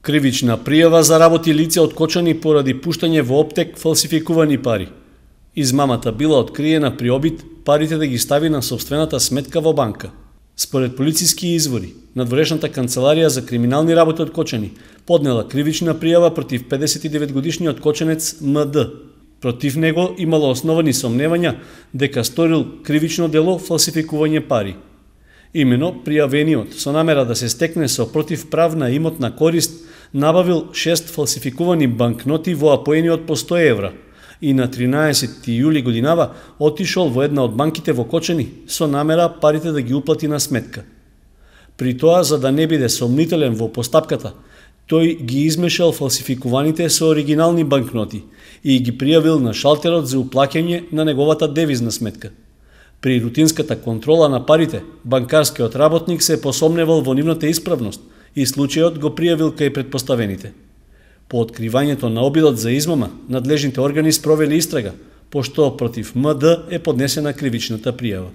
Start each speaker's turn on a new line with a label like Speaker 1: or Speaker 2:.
Speaker 1: Кривична пријава заработи лице откочани поради пуштање во оптек фалсификувани пари. Измамата била откриена при обид парите да ги стави на сопствената сметка во банка. Според полициски извори, надворешната канцеларија за криминални работи откочани поднела кривична пријава против 59-годишниот коченец МД. Против него имало основани сомневања дека сторил кривично дело фалсификување пари. Имено, пријавениот, со намера да се стекне со противправна имотна корист, набавил 6 фалсификувани банкноти во апоени по 100 евра и на 13 јули годинава отишол во една од банките во Кочани со намера парите да ги уплати на сметка. При тоа, за да не биде сомнителен во постапката, тој ги измешал фалсификуваните со оригинални банкноти и ги пријавил на шалтерот за уплаќање на неговата девизна сметка. При рутинската контрола на парите, банкарскиот работник се посомневал во нивната исправност и случајот го пријавил кај претпоставените. По откривањето на обидот за измама, надлежните органи спровели истрага, пошто против МД е поднесена кривичната пријава.